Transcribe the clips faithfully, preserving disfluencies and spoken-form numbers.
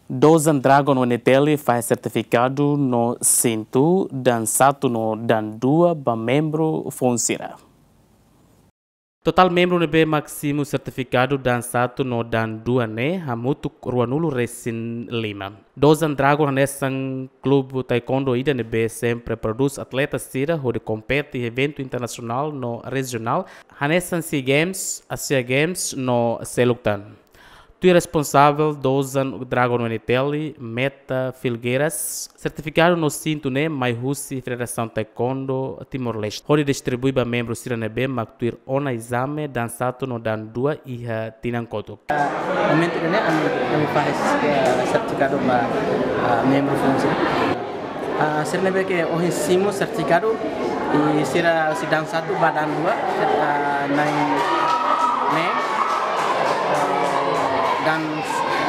Dozan Dragon U N T L fahe sertifikadu no sintu dan satu no dan dua ba membru foun sira. Totál membru ne'ebé mak simu sertifikadu dan satu no dan dua ne'e hamutuk ruanulu resin lima. Dozan Dragon hanesan klube taekwondo ida ne'ebé sempre prodús atleta sira hodi kompete iha eventu internasionál no rejionál, hanesan SEA Games, Asia Games no seluk tan. Tuir responsavel Dozan Dragon U N T L, Meta Filgueiras, sertifikadu no sintu ne'e mai husi Federasaun Taekwondo Timor-Leste, hodi distribui ba membru sira ne'ebé mak tuir ona ezame dan satu no dan dua iha tinan kotuk. Momentu ida-ne'e ami, ami fahe, eh, sertifikadu ba, ah, membru foun sira. Ah, sira ne'ebé ke ohin simu sertifikadu, i sira husi dan satu ba dan dua, ah, na'in neen, dan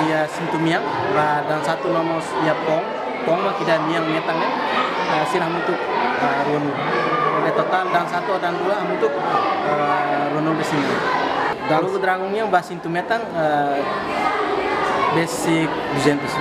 iha sintu mean, ba dan satu no mós iha poun, poun mak ida mean metan ne'e, ah, sira hamutuk, ah, ruanulu. Jadi totál dan satu dan dua hamutuk, ah, ruanulu resin neen. Dan Klube Dragon nian ba sintu metan, eh, besik duzentus.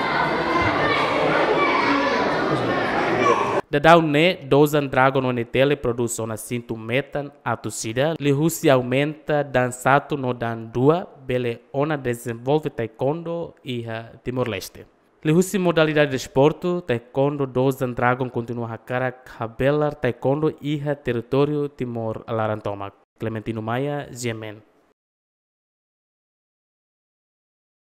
Daudaun ne'e, Dozan Dragon U N T L prodús ona sintu metan atus ida, liuhusi aumenta dan satu no dan dua, bele ona dezenvolve taekwondo iha Timor-Leste. Liuhusi modalidade desportu, taekwondo Dozan Dragon kontinua hakarak habelar taekwondo iha territóriu Timor laran tomak. Clementino Maia, G M N.